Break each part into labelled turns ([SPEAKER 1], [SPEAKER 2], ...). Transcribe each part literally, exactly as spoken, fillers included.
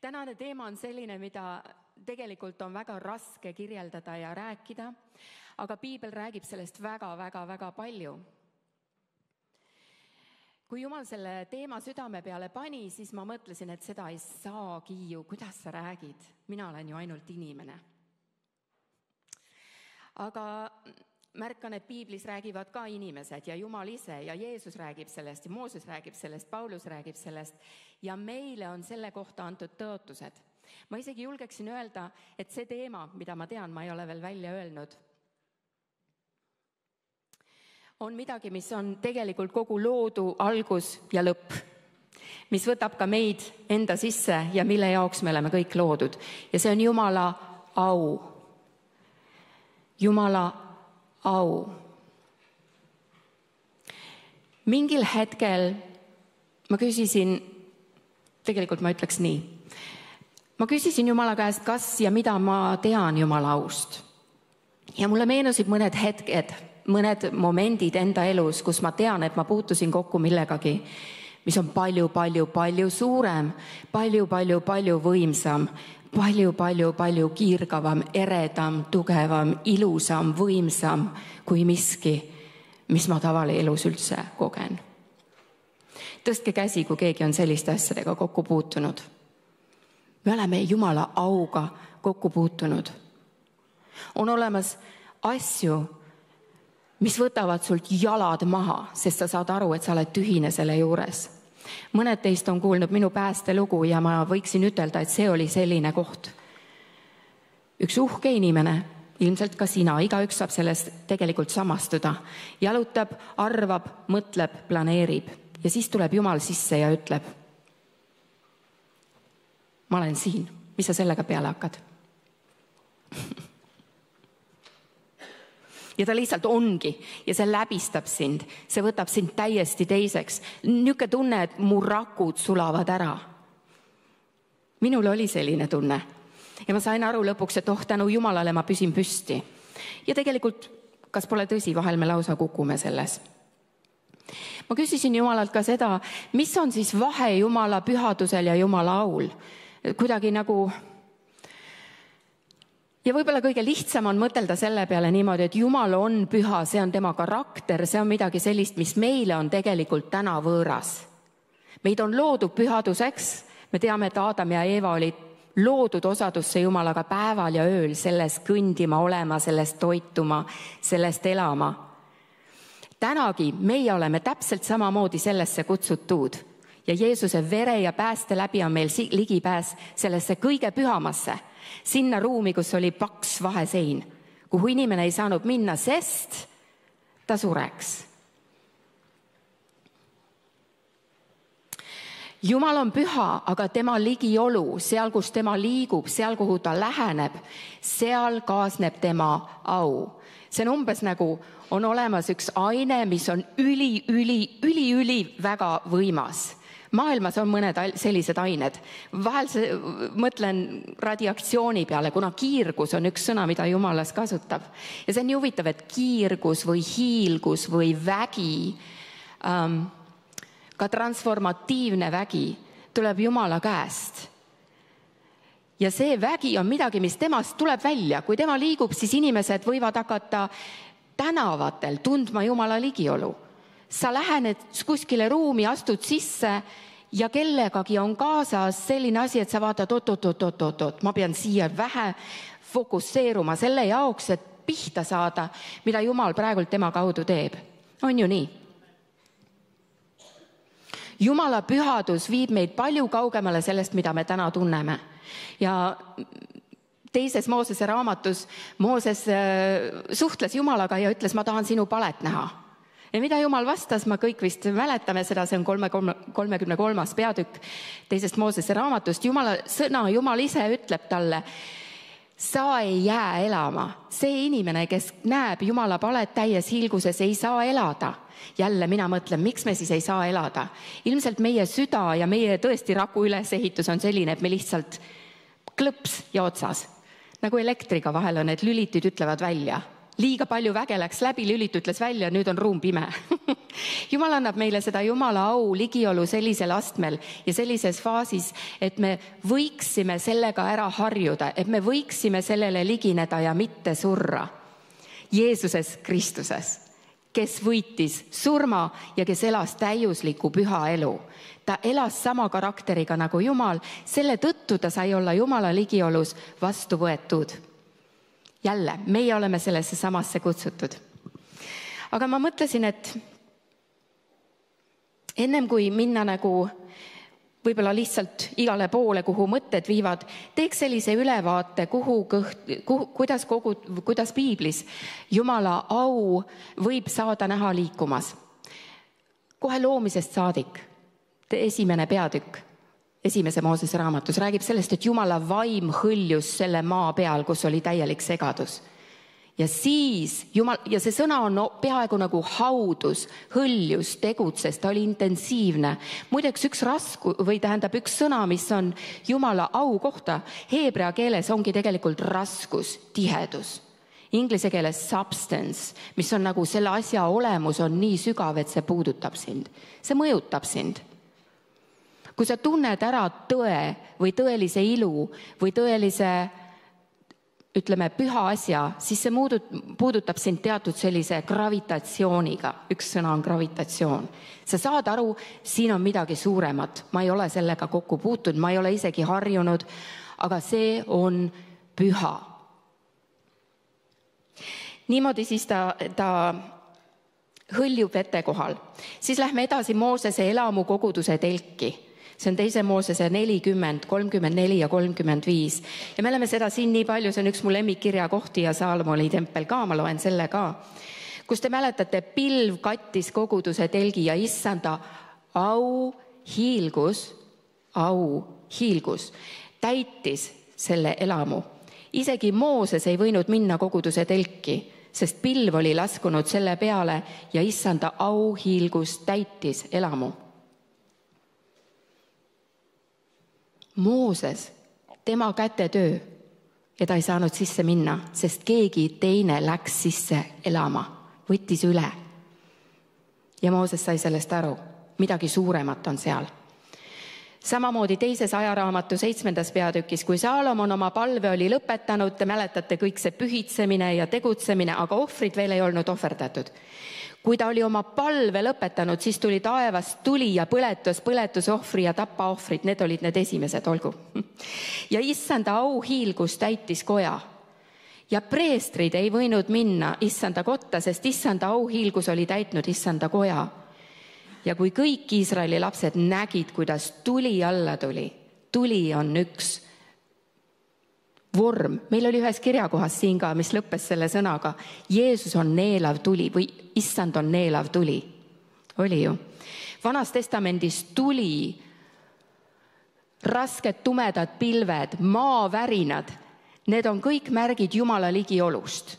[SPEAKER 1] tänane teema on selline, mida tegelikult on väga raske kirjeldada ja rääkida, aga piibel räägib sellest väga-väga-väga palju. Kui Jumal selle teema südame peale pani, siis ma mõtlesin, et seda ei saagi ju, kuidas sa räägid, mina olen ju ainult inimene. Aga märkan, et piiblis räägivad ka inimesed ja Jumal ise ja Jeesus räägib sellest ja Mooses räägib sellest, Paulus räägib sellest ja meile on selle kohta antud tõotused. Ma isegi julgeksin öelda, et see teema, mida ma tean, ma ei ole veel välja öelnud, on midagi, mis on tegelikult kogu loodu algus ja lõpp, mis võtab ka meid enda sisse ja mille jaoks me oleme kõik loodud. Ja see on Jumala au. Jumala au. Mingil hetkel ma küsisin, tegelikult ma ütleks nii, ma küsisin Jumala käest, kas ja mida ma tean Jumala aust. Ja mulle meenusid mõned hetked, mõned momendid enda elus, kus ma tean, et ma puutusin kokku millegagi, mis on palju, palju, palju suurem, palju, palju, palju võimsam, palju, palju, palju kiirgavam, eredam, tugevam, ilusam, võimsam kui miski, mis ma tavalelus üldse kogen. Tõstke käsi, kui keegi on selliste asjadega kokku puutunud. Me oleme Jumala auga kokku puutunud. On olemas asju, mis võtavad sult jalad maha, sest sa saad aru, et sa oled tühine selle juures. Mõned teist on kuulnud minu päästelugu ja ma võiksin ütelda, et see oli selline koht. Üks uhke inimene, ilmselt ka sina, igaüks saab sellest tegelikult samastuda. Jalutab, arvab, mõtleb, planeerib ja siis tuleb Jumal sisse ja ütleb, ma olen siin, mis sa sellega peale hakkad? Ja ta lihtsalt ongi ja see läbistab sind, see võtab sind täiesti teiseks. Niuke tunne, et mu rakud sulavad ära. Minul oli selline tunne ja ma sain aru lõpuks, et oh, tänu Jumalale ma püsin püsti. Ja tegelikult, kas pole tõsi, vahel me lausa kukume selles. Ma küsisin Jumalalt ka seda, mis on siis vahe Jumala pühadusel ja Jumala aul. Kuidagi nagu... Ja võib-olla kõige lihtsam on mõtelda selle peale niimoodi, et Jumal on püha, see on tema karakter, see on midagi sellist, mis meile on tegelikult täna võõras. Meid on loodud pühaduseks, me teame, et Aadam ja Eeva olid loodud osadusse Jumalaga päeval ja ööl, sellest kõndima olema, sellest toituma, sellest elama. Tänagi meie oleme täpselt samamoodi sellesse kutsutud ja Jeesuse vere ja pääste läbi on meil ligipääs sellesse kõige pühamasse. Sinna ruumi, kus oli paks vahesein, kuhu inimene ei saanud minna, sest ta sureks. Jumal on püha, aga tema ligiolu, seal, kus tema liigub, seal, kuhu ta läheneb, seal kaasneb tema au. See on umbes nagu on olemas üks aine, mis on üli, üli, üli, üli väga võimas. Maailmas on mõned sellised ained. Vahel mõtlen radiaktsiooni peale, kuna kiirgus on üks sõna, mida Jumalas kasutab. Ja see on nii huvitav, et kiirgus või hiilgus või vägi, ähm, ka transformatiivne vägi tuleb Jumala käest. Ja see vägi on midagi, mis temast tuleb välja. Kui tema liigub, siis inimesed võivad hakata tänavatel tundma Jumala ligiolu. Sa lähened kuskile ruumi, astud sisse ja kellegagi on kaasas selline asi, et sa vaatad, oot, oot, oot, oot, oot, oot. Ma pean siia vähe fokusseeruma selle jaoks, et pihta saada, mida Jumal praegult tema kaudu teeb. On ju nii? Jumala pühadus viib meid palju kaugemale sellest, mida me täna tunneme. Ja teises Moosese raamatus Mooses suhtles Jumalaga ja ütles, ma tahan sinu palet näha. Ja mida Jumal vastas, ma kõik vist mäletame seda, see on kolmekümne kolmas peatükk teisest Moosese raamatust. Jumala sõna, Jumal ise ütleb talle, sa ei jää elama. See inimene, kes näeb Jumala palet täies hiilguses, ei saa elada. Jälle mina mõtlen, miks me siis ei saa elada? Ilmselt meie süda ja meie tõesti raku ülesehitus on selline, et me lihtsalt klõps ja otsas. Nagu elektriga vahel on, et lülitid ütlevad välja. liiga palju väge läks läbi, lülit ütles välja, nüüd on ruum pime. Jumal annab meile seda Jumala au ligiolu sellisel astmel ja sellises faasis, et me võiksime sellega ära harjuda, et me võiksime sellele ligineda ja mitte surra. Jeesuses Kristuses, kes võitis surma ja kes elas täiusliku püha elu. Ta elas sama karakteriga nagu Jumal, selle tõttu ta sai olla Jumala ligiolus vastu võetud. Jälle, meie oleme sellesse samasse kutsutud. Aga ma mõtlesin, et ennem kui minna nagu võib-olla lihtsalt igale poole, kuhu mõtted viivad, teeks sellise ülevaate, kuhu kõht, kuhu, kuidas, kogu, kuidas piiblis Jumala au võib saada näha liikumas. Kohe loomisest saadik, esimene peatükk. Esimese Moosese raamatus räägib sellest, et Jumala vaim hõljus selle maa peal, kus oli täielik segadus. Ja siis, Jumal, ja see sõna on peaaegu nagu haudus, hõljus, tegutses, ta oli intensiivne. Muideks üks rasku, või tähendab üks sõna, mis on Jumala au kohta, heebrea keeles ongi tegelikult raskus, tihedus. Inglise keeles substance, mis on nagu selle asja olemus on nii sügav, et see puudutab sind. See mõjutab sind. Kui sa tunned ära tõe või tõelise ilu või tõelise, ütleme, püha asja, siis see puudutab sind teatud sellise gravitatsiooniga. Üks sõna on gravitatsioon. Sa saad aru, siin on midagi suuremat. Ma ei ole sellega kokku puutunud, ma ei ole isegi harjunud, aga see on püha. Niimoodi siis ta, ta hõljub vete kohal. Siis lähme edasi Moosese elamu koguduse telki. See on teise Moosese nelikümmend, kolmkümmend neli ja kolmkümmend viis. Ja me oleme seda siin nii palju, see on üks mu lemmikkirja kohti ja Saalomoni tempel ka, ma loen selle ka. Kus te mäletate, pilv kattis koguduse telgi ja issanda au hiilgus, au hiilgus, täitis selle elamu. Isegi Mooses ei võinud minna koguduse telki, sest pilv oli laskunud selle peale ja issanda au hiilgus täitis elamu. Mooses, tema kätetöö ja ta ei saanud sisse minna, sest keegi teine läks sisse elama, võttis üle. Ja Mooses sai sellest aru, midagi suuremat on seal. Samamoodi teises ajaraamatu seitsmendas peatükis, kui Saalomon oma palve oli lõpetanud, te mäletate kõik see pühitsemine ja tegutsemine, aga ohvrid veel ei olnud ohverdatud. Kui ta oli oma palve lõpetanud, siis tuli taevast tuli ja põletus, põletusohvri ja tapaohvrid, need olid need esimesed, olgu. Ja issanda au hiilgus täitis koja. Ja preestrid ei võinud minna issanda kotta, sest issanda au hiilgus oli täitnud issanda koja. Ja kui kõik Iisraeli lapsed nägid, kuidas tuli alla tuli, tuli on üks vorm. Meil oli ühes kirjakohas siin ka, mis lõppes selle sõnaga. Jeesus on neelav tuli või issand on neelav tuli. Oli ju. Vanas testamendis tuli, rasked tumedad pilved, maavärinad. Need on kõik märgid Jumala ligiolust.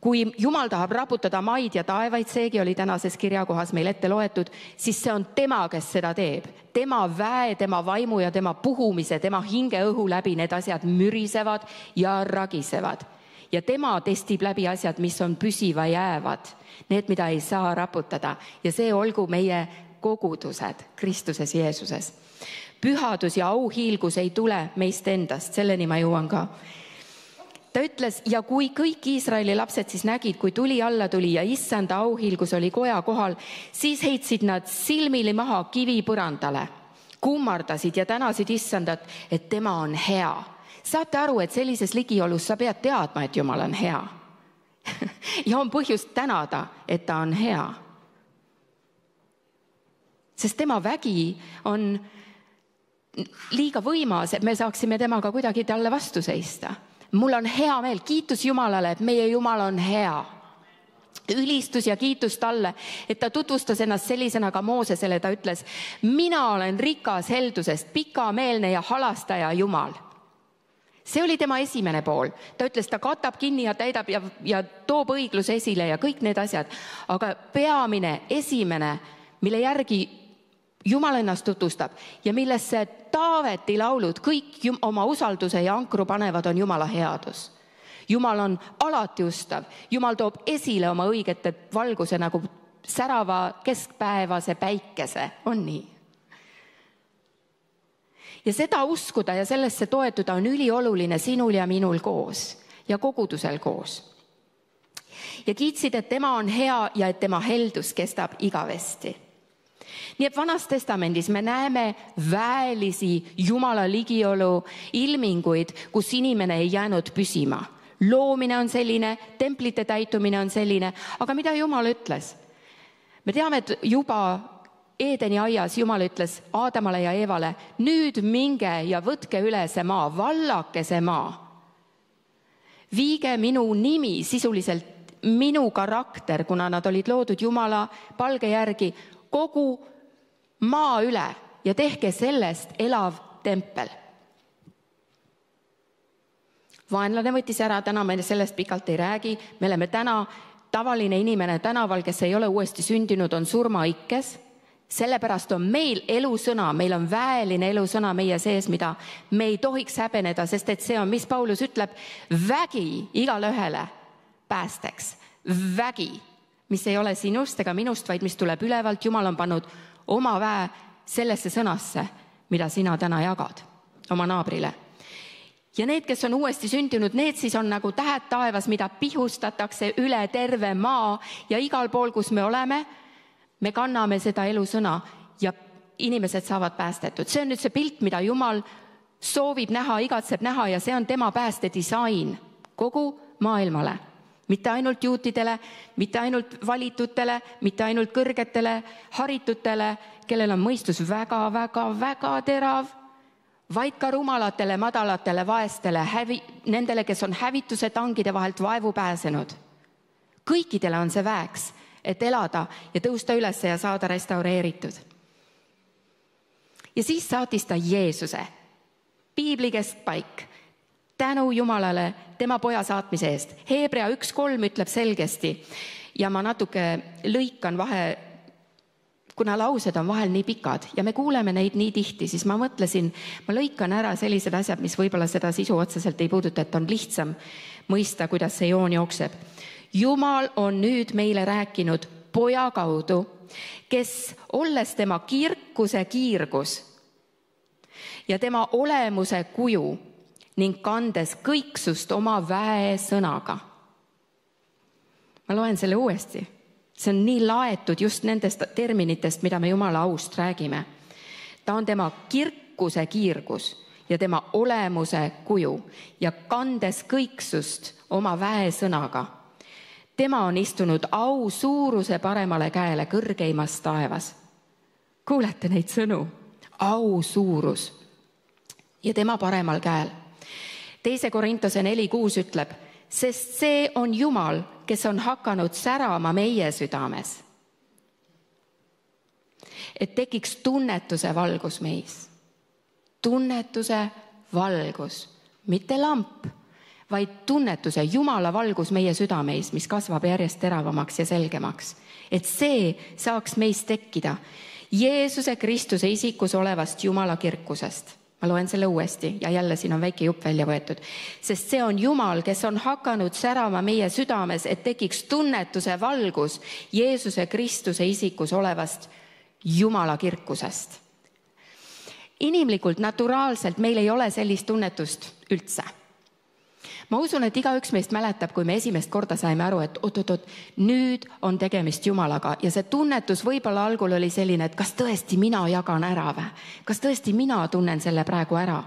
[SPEAKER 1] Kui Jumal tahab raputada maid ja taevaid, seegi oli tänases kirjakohas meil ette loetud, siis see on tema, kes seda teeb. Tema väe, tema vaimu ja tema puhumise, tema hinge õhu läbi need asjad mürisevad ja ragisevad. Ja tema testib läbi asjad, mis on püsiva jäävad. Need, mida ei saa raputada. Ja see olgu meie kogudused Kristuses Jeesuses. Pühadus ja auhiilgus ei tule meist endast, selleni ma jõuan ka. Ta ütles, ja kui kõik Iisraeli lapsed siis nägid, kui tuli alla tuli ja issanda auhiilgus oli koja kohal, siis heitsid nad silmili maha kivi põrandale, kummardasid ja tänasid issandat, et tema on hea. Saate aru, et sellises ligiolus sa pead teadma, et Jumal on hea. Ja on põhjust tänada, et ta on hea. Sest tema vägi on liiga võimas, et me saaksime temaga kuidagi talle vastu seista. Mul on hea meel, kiitus Jumalale, et meie Jumal on hea. Ülistus ja kiitus talle, et ta tutvustas ennast sellisena ka Moosesele, ta ütles, mina olen rikas heldusest, pikameelne ja halastaja Jumal. See oli tema esimene pool. Ta ütles, ta katab kinni ja täidab ja, ja toob õigluse esile ja kõik need asjad. Aga peamine, esimene, mille järgi Jumal ennast tutvustab ja millesse Taaveti laulud kõik oma usalduse ja ankru panevad, on Jumala headus. Jumal on alati ustav. Jumal toob esile oma õigete valguse nagu särava keskpäevase päikese. On nii? Ja seda uskuda ja sellesse toetuda on ülioluline sinul ja minul koos ja kogudusel koos. Ja kiitsid, et tema on hea ja et tema heldus kestab igavesti. Nii et Vanas Testamendis me näeme väelisi Jumala ligiolu ilminguid, kus inimene ei jäänud püsima. Loomine on selline, templite täitumine on selline, aga mida Jumal ütles? Me teame, et juba Eedeni aias Jumal ütles Aadamale ja Eevale, nüüd minge ja võtke üle see maa, vallake see maa. Viige minu nimi, sisuliselt minu karakter, kuna nad olid loodud Jumala palge järgi, kogu maa üle ja tehke sellest elav tempel. Vaenlane võttis ära, täna me sellest pikalt ei räägi, me oleme täna tavaline inimene tänaval, kes ei ole uuesti sündinud, on surmaikkes. Sellepärast on meil elusõna, meil on väeline elusõna meie sees, mida me ei tohiks häbeneda, sest et see on, mis Paulus ütleb, vägi igale ühele päästeks. Vägi, mis ei ole sinust ega minust, vaid mis tuleb ülevalt. Jumal on pannud oma väe sellesse sõnasse, mida sina täna jagad oma naabrile. Ja need, kes on uuesti sündinud, need siis on nagu tähed taevas, mida pihustatakse üle terve maa ja igal pool, kus me oleme, me kanname seda elusõna ja inimesed saavad päästetud. See on nüüd see pilt, mida Jumal soovib näha, igatseb näha ja see on tema päästedisain kogu maailmale. Mitte ainult juutidele, mitte ainult valitutele, mitte ainult kõrgetele, haritutele, kellel on mõistus väga, väga, väga terav, vaid ka rumalatele, madalatele, vaestele, hävi, nendele, kes on hävituse tangide vahelt vaevu pääsenud. Kõikidele on see väeks, et elada ja tõusta üles ja saada restaureeritud. Ja siis saatis ta Jeesuse, piibli keskpaik, tänu Jumalale tema poja saatmise eest. Hebrea üks kolm ütleb selgesti ja ma natuke lõikan vahe, kuna laused on vahel nii pikad ja me kuuleme neid nii tihti, siis ma mõtlesin, ma lõikan ära sellised asjad, mis võib-olla seda sisu otseselt ei puuduta, et on lihtsam mõista, kuidas see joon jookseb. Jumal on nüüd meile rääkinud poja kaudu, kes olles tema kirkuse kiirgus ja tema olemuse kuju ning kandes kõiksust oma väe sõnaga. Ma loen selle uuesti. See on nii laetud just nendest terminitest, mida me Jumala aust räägime. Ta on tema kirkuse kiirgus ja tema olemuse kuju ja kandes kõiksust oma väe sõnaga. Tema on istunud au suuruse paremale käele kõrgeimas taevas. Kuulete neid sõnu? Au suurus ja tema paremal käel. Teise Korintuse neli kuus ütleb, sest see on Jumal, kes on hakanud särama meie südames. Et tekiks tunnetuse valgus meis. Tunnetuse valgus, mitte lamp, vaid tunnetuse Jumala valgus meie südameis, mis kasvab järjest teravamaks ja selgemaks. Et see saaks meist tekkida Jeesuse Kristuse isikus olevast Jumala kirkusest. Ma loen selle uuesti ja jälle siin on väike jupp välja võetud. Sest see on Jumal, kes on hakanud särama meie südames, et tekiks tunnetuse valgus Jeesuse Kristuse isikus olevast Jumala kirkusest. Inimlikult, naturaalselt meil ei ole sellist tunnetust üldse. Ma usun, et igaüks meist mäletab, kui me esimest korda saime aru, et oot-oot-oot, nüüd on tegemist Jumalaga ja see tunnetus võib-olla algul oli selline, et kas tõesti mina jagan ära või? Kas tõesti mina tunnen selle praegu ära?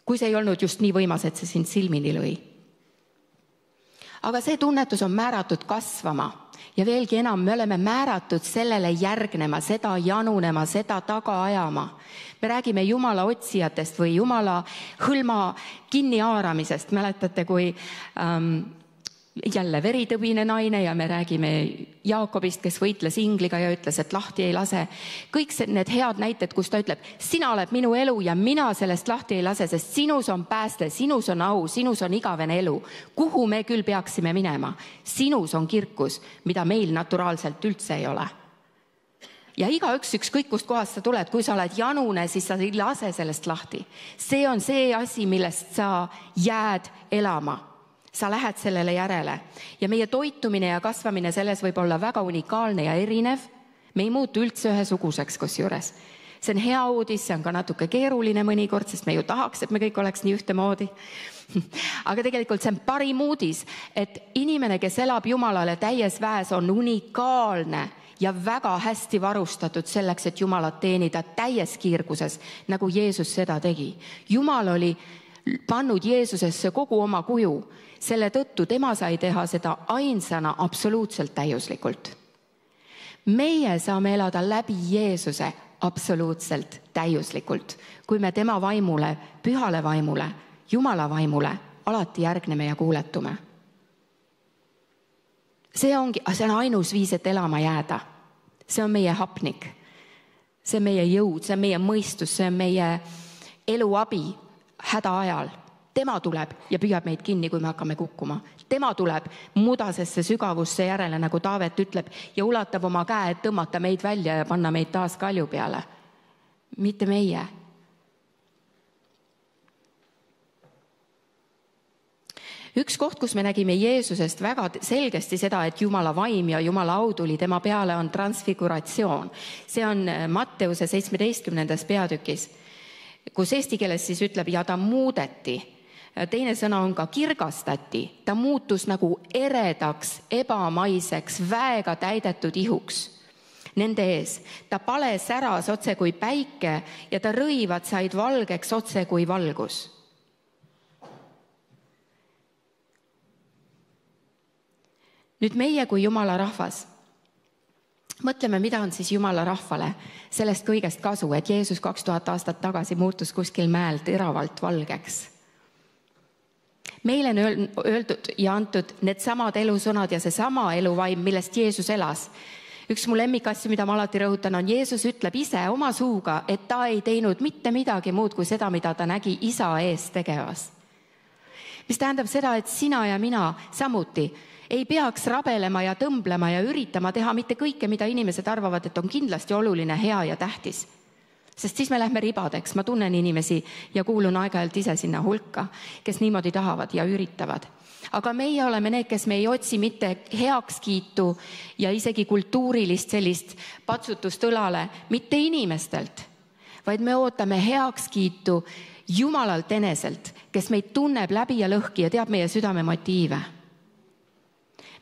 [SPEAKER 1] Kui see ei olnud just nii võimas, et see sind silmini lõi. Aga see tunnetus on määratud kasvama ja veelgi enam, me oleme määratud sellele järgnema, seda janunema, seda taga ajama. Me räägime Jumala otsijatest või Jumala hõlma kinni haaramisest. Mäletate, kui ähm, jälle veritõbine naine ja me räägime Jaakobist, kes võitles ingliga ja ütles, et lahti ei lase. Kõik need head näited, kus ta ütleb, sina oled minu elu ja mina sellest lahti ei lase, sest sinus on pääste, sinus on au, sinus on igavene elu. Kuhu me küll peaksime minema? Sinus on kirkus, mida meil naturaalselt üldse ei ole. Ja igaüks ükskõik kust kohast sa tuled, kui sa oled janune, siis sa ei lase sellest lahti. See on see asi, millest sa jääd elama. Sa lähed sellele järele. Ja meie toitumine ja kasvamine selles võib olla väga unikaalne ja erinev. Me ei muutu üldse ühesuguseks kusjuures. See on hea uudis, see on ka natuke keeruline mõnikord, sest me ju tahaks, et me kõik oleks nii ühtemoodi. Aga tegelikult see on parim uudis, et inimene, kes elab Jumalale täies väes, on unikaalne ja väga hästi varustatud selleks, et Jumalat teenida täies kiirguses, nagu Jeesus seda tegi. Jumal oli pannud Jeesusesse kogu oma kuju. Selle tõttu tema sai teha seda ainsana absoluutselt täiuslikult. Meie saame elada läbi Jeesuse absoluutselt täiuslikult, kui me tema vaimule, pühale vaimule, Jumala vaimule alati järgneme ja kuuletume. See ongi, see on ainus viis, et elama jääda. See on meie hapnik. See on meie jõud, see on meie mõistus, see on meie eluabi häda ajal. Tema tuleb ja püüab meid kinni, kui me hakkame kukkuma. Tema tuleb mudasesse sügavusse järele, nagu Taavet ütleb, ja ulatab oma käe, et tõmmata meid välja ja panna meid taas kalju peale. Mitte meie. Üks koht, kus me nägime Jeesusest väga selgesti seda, et Jumala vaim ja Jumala au tuli tema peale, on transfiguratsioon. See on Matteuse seitsmeteistkümnendas peatükis, kus eesti keeles siis ütleb, ja ta muudeti. Teine sõna on ka kirgastati. Ta muutus nagu eredaks, ebamaiseks, väega täidetud ihuks nende ees. Ta pale säras otse kui päike ja ta rõivad said valgeks otse kui valgus. Nüüd meie kui Jumala rahvas. Mõtleme, mida on siis Jumala rahvale sellest kõigest kasu, et Jeesus kaks tuhat aastat tagasi muutus kuskil mäel teravalt valgeks. Meile on öeldud ja antud need samad elusõnad ja see sama eluvaim, millest Jeesus elas. Üks mu lemmikasju, mida ma alati rõhutan, on Jeesus ütleb ise oma suuga, et ta ei teinud mitte midagi muud kui seda, mida ta nägi isa ees tegevas. Mis tähendab seda, et sina ja mina samuti ei peaks rabelema ja tõmblema ja üritama teha mitte kõike, mida inimesed arvavad, et on kindlasti oluline, hea ja tähtis. Sest siis me lähme ribadeks. Ma tunnen inimesi ja kuulun aeg-ajalt ise sinna hulka, kes niimoodi tahavad ja üritavad. Aga meie oleme need, kes me ei otsi mitte heakskiitu ja isegi kultuurilist sellist patsutust õlale, mitte inimestelt, vaid me ootame heakskiitu Jumalalt eneselt, kes meid tunneb läbi ja lõhki ja teab meie südame motiive.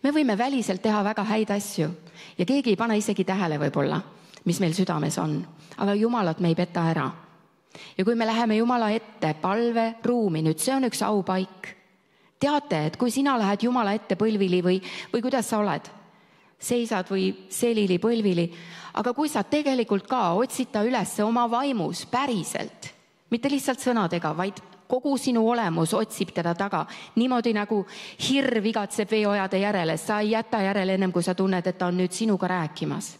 [SPEAKER 1] Me võime väliselt teha väga häid asju ja keegi ei pane isegi tähele võib-olla, mis meil südames on. Aga Jumalat me ei peta ära. Ja kui me läheme Jumala ette palve ruumi, nüüd see on üks aupaik. Teate, et kui sina lähed Jumala ette põlvili või, või kuidas sa oled, seisad või selili põlvili, aga kui sa tegelikult ka otsid ta üles oma vaimus päriselt, mitte lihtsalt sõnadega, vaid kogu sinu olemus otsib teda taga, niimoodi nagu hirv igatseb veeojade järele, sa ei jäta järele ennem, kui sa tunned, et ta on nüüd sinuga rääkimas.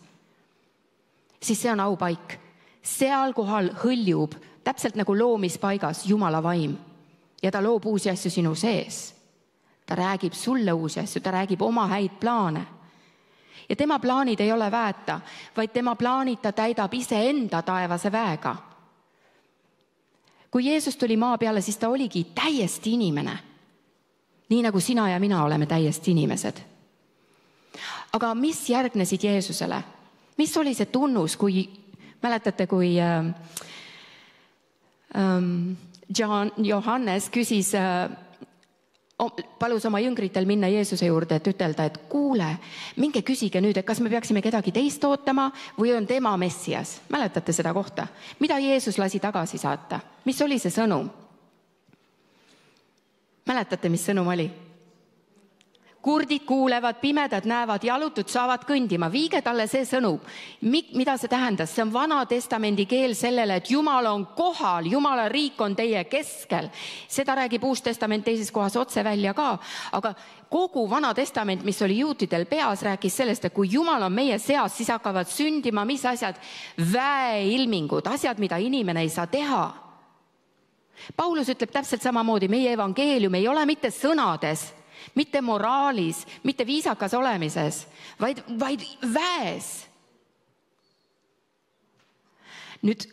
[SPEAKER 1] Siis see on aupaik. Seal kohal hõljub täpselt nagu loomispaigas Jumala vaim ja ta loob uusi asju sinu sees. Ta räägib sulle uusi asju, ta räägib oma häid plaane. Ja tema plaanid ei ole väeta, vaid tema plaanid ta täidab ise enda taevase väega. Kui Jeesus tuli maa peale, siis ta oligi täiesti inimene. Nii nagu sina ja mina oleme täiesti inimesed. Aga mis järgnesid Jeesusele? Mis oli see tunnus, kui, mäletate, kui äh, John, Johannes küsis, äh, palus oma jüngritel minna Jeesuse juurde, et ütelda, et kuule, minge küsige nüüd, et kas me peaksime kedagi teist ootama või on tema Messias. Mäletate seda kohta? Mida Jeesus lasi tagasi saata? Mis oli see sõnum? Mäletate, mis sõnum oli? Kurdid kuulevad, pimedad näevad, jalutud saavad kõndima. Viige talle see sõnum. Mida see tähendas? See on Vana Testamendi keel sellele, et Jumal on kohal, Jumala riik on teie keskel. Seda räägib Uus Testament teises kohas otse välja ka. Aga kogu Vana Testament, mis oli juutidel peas, rääkis sellest, et kui Jumal on meie seas, siis hakkavad sündima mis asjad? Väeilmingud, asjad, mida inimene ei saa teha. Paulus ütleb täpselt samamoodi, meie evangeelium ei ole mitte sõnades, mitte moraalis, mitte viisakas olemises, vaid, vaid väes. Nüüd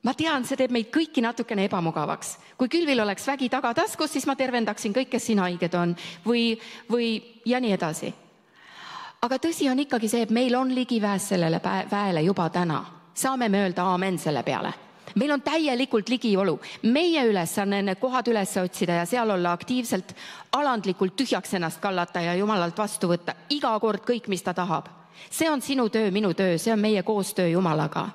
[SPEAKER 1] ma tean, see teeb meid kõiki natukene ebamugavaks. Kui Külvil oleks vägi tagataskus, siis ma tervendaksin kõik, kes siin haiged on või, või ja nii edasi. Aga tõsi on ikkagi see, et meil on ligipääs sellele väele juba täna. Saame me öelda aamen selle peale. Meil on täielikult ligiolu. Meie ülesanne need kohad üles otsida ja seal olla aktiivselt, alandlikult tühjaks ennast kallata ja Jumalalt vastu võtta iga kord kõik, mis ta tahab. See on sinu töö, minu töö, see on meie koostöö Jumalaga.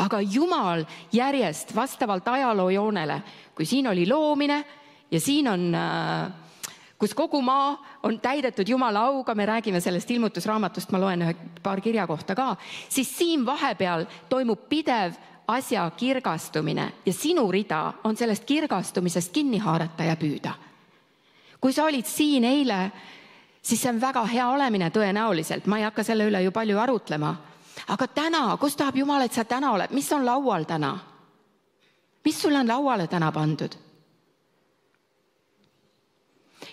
[SPEAKER 1] Aga Jumal järjest vastavalt ajaloo joonele, kui siin oli loomine ja siin on, kus kogu maa on täidetud Jumala auga, me räägime sellest ilmutusraamatust, ma loen ühe paar kirja kohta ka, siis siin vahepeal toimub pidev asja kirgastumine ja sinu rida on sellest kirgastumisest kinni haarata ja püüda. Kui sa olid siin eile, siis see on väga hea olemine tõenäoliselt, ma ei hakka selle üle ju palju arutlema. Aga täna, kus tahab Jumal, et sa täna oled? Mis on laual täna? Mis sul on lauale täna pandud?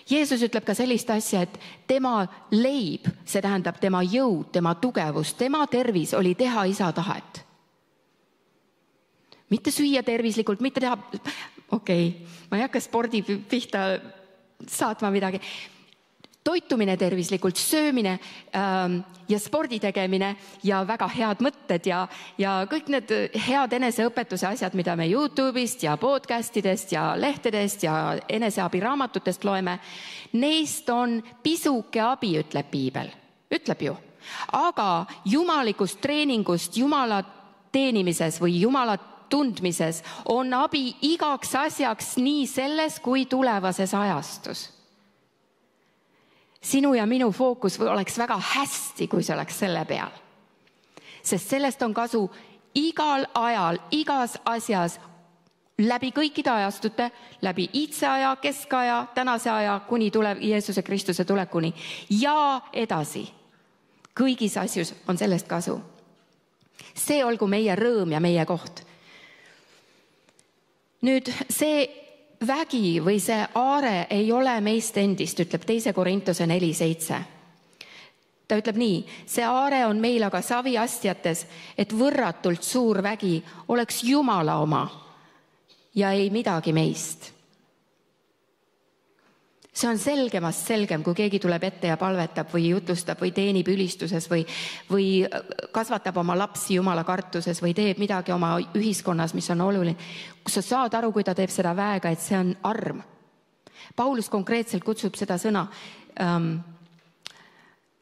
[SPEAKER 1] Jeesus ütleb ka sellist asja, et tema leib, see tähendab tema jõud, tema tugevus, tema tervis oli teha isa tahet. Mitte süüa tervislikult, mitte teha, okei, okay, ma ei hakka spordi pihta saatma midagi. Toitumine tervislikult, söömine ähm, ja spordi tegemine ja väga head mõtted ja, ja kõik need head eneseõpetuse asjad, mida me YouTube'ist ja podcastidest ja lehtedest ja eneseabiraamatutest loeme, neist on pisuke abi, ütleb piibel. Ütleb ju. Aga jumalikust treeningust, Jumala teenimises või Jumala tundmises on abi igaks asjaks nii selles kui tulevases ajastus. Sinu ja minu fookus oleks väga hästi, kui see oleks selle peal. Sest sellest on kasu igal ajal, igas asjas, läbi kõikide ajastute, läbi iidse aja, keskaja, tänase aja, kuni tuleb Jeesuse Kristuse tulekuni ja edasi. Kõigis asjus on sellest kasu. See olgu meie rõõm ja meie koht. Nüüd see vägi või see aare ei ole meist endist, ütleb teise Korintuse neli seitse. Ta ütleb nii, see aare on meil aga saviastjates, et võrratult suur vägi oleks Jumala oma ja ei midagi meist. See on selgemast selgem, kui keegi tuleb ette ja palvetab või jutlustab või teenib ülistuses või, või kasvatab oma lapsi Jumala kartuses või teeb midagi oma ühiskonnas, mis on oluline. Kus sa saad aru, kui ta teeb seda väega, et see on arm. Paulus konkreetselt kutsub seda sõna.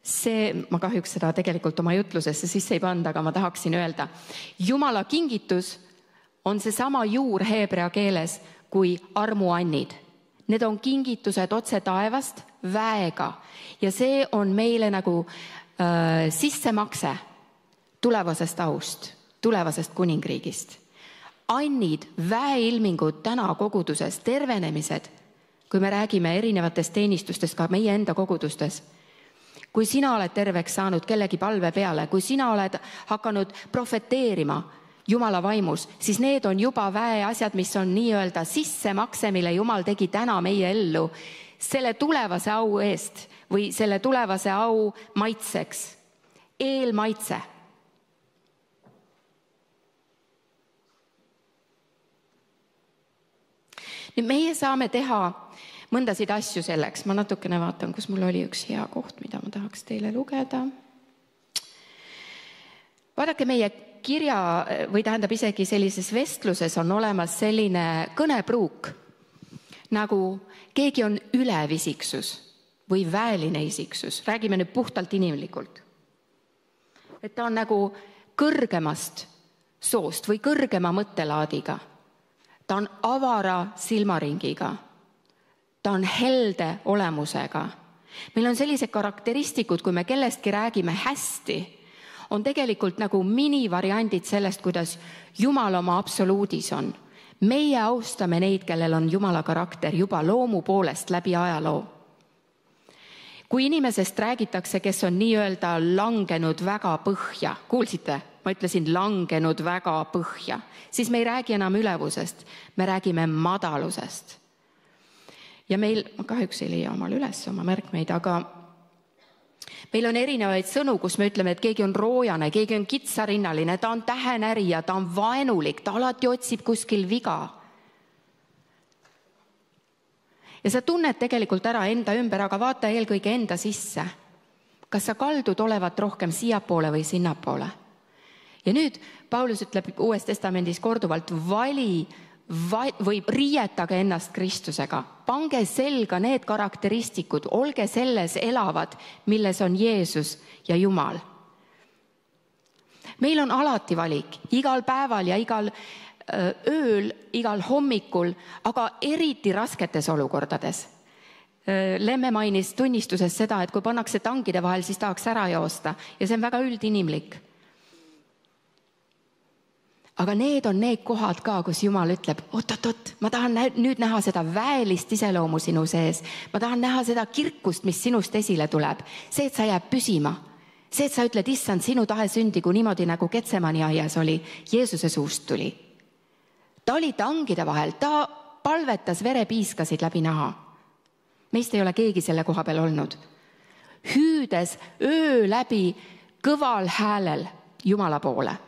[SPEAKER 1] See, ma kahjuks seda tegelikult oma jutlusesse sisse ei panda, aga ma tahaksin öelda. Jumala kingitus on see sama juur heebrea keeles kui armuannid. Need on kingitused otse taevast väega ja see on meile nagu äh, sissemakse tulevasest aust, tulevasest kuningriigist. Annid, väeilmingud täna koguduses, tervenemised, kui me räägime erinevatest teenistustest ka meie enda kogudustes. Kui sina oled terveks saanud kellegi palve peale, kui sina oled hakanud profeteerima Jumala vaimus, siis need on juba väe asjad, mis on nii-öelda sissemakse, mille Jumal tegi täna meie ellu selle tulevase au eest või selle tulevase au maitseks. Eelmaitse. Nüüd meie saame teha mõndasid asju selleks. Ma natukene vaatan, kus mul oli üks hea koht, mida ma tahaks teile lugeda. Vaadake meie kirja või tähendab isegi sellises vestluses on olemas selline kõnepruuk, nagu keegi on ülevisiksus või väeline isiksus. Räägime nüüd puhtalt inimlikult. Et ta on nagu kõrgemast soost või kõrgema mõttelaadiga. Ta on avara silmaringiga. Ta on helde olemusega. Meil on sellised karakteristikud, kui me kellestki räägime hästi, on tegelikult nagu minivariandid sellest, kuidas Jumal oma absoluudis on. Meie austame neid, kellel on Jumala karakter juba loomu poolest läbi ajaloo. Kui inimesest räägitakse, kes on nii-öelda langenud väga põhja, kuulsite? Ma ütlesin langenud väga põhja, siis me ei räägi enam ülevusest, me räägime madalusest. Ja meil, ma kahjuks ei leia omal üles oma märkmeid, aga meil on erinevaid sõnu, kus me ütleme, et keegi on roojane, keegi on kitsarinnaline, ta on tähenärija, ta on vaenulik, ta alati otsib kuskil viga. Ja sa tunned tegelikult ära enda ümber, aga vaata eelkõige enda sisse. Kas sa kaldud olevat rohkem siiapoole või sinnapoole? Ja nüüd Paulus ütleb Uues Testamendis korduvalt, vali või riietage ennast Kristusega. Pange selga need karakteristikud, olge selles elavad, milles on Jeesus ja Jumal. Meil on alati valik, igal päeval ja igal ööl, igal hommikul, aga eriti rasketes olukordades. Lemme mainis tunnistuses seda, et kui pannakse tangide vahel, siis tahaks ära joosta ja see on väga üldinimlik. Aga need on need kohad ka, kus Jumal ütleb, oot-oot-oot, ma tahan nüüd näha seda väelist iseloomu sinu sees. Ma tahan näha seda kirkust, mis sinust esile tuleb. See, et sa jääb püsima. See, et sa ütled, issand, sinu tahe sündigu niimoodi, nagu Getsemani aias oli, Jeesuse suust tuli. Ta oli tangide vahel, ta palvetas, verepiiskasid läbi naha. Meist ei ole keegi selle koha peal olnud. Hüüdes öö läbi kõval häälel Jumala poole.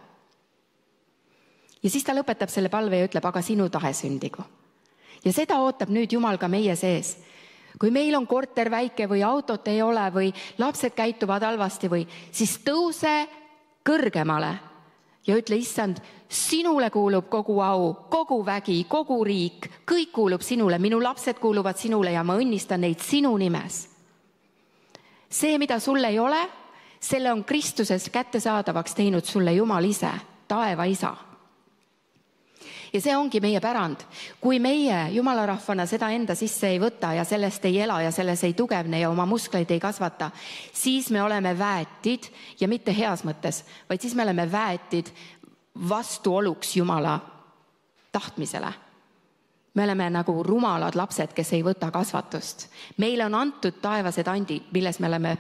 [SPEAKER 1] Ja siis ta lõpetab selle palve ja ütleb, aga sinu tahe sündigu. Ja seda ootab nüüd Jumal ka meie sees. Kui meil on korter väike või autot ei ole või lapsed käituvad halvasti või, siis tõuse kõrgemale ja ütle, issand, sinule kuulub kogu au, kogu vägi, kogu riik, kõik kuulub sinule, minu lapsed kuuluvad sinule ja ma õnnistan neid sinu nimes. See, mida sul ei ole, selle on Kristuses kättesaadavaks teinud sulle Jumal ise, taeva isa. Ja see ongi meie pärand. Kui meie Jumala rahvana seda enda sisse ei võta ja sellest ei ela ja selles ei tugevne ja oma muskleid ei kasvata, siis me oleme väetid ja mitte heas mõttes, vaid siis me oleme väetid vastuoluks Jumala tahtmisele. Me oleme nagu rumalad lapsed, kes ei võta kasvatust. Meile on antud taevased andid, milles me oleme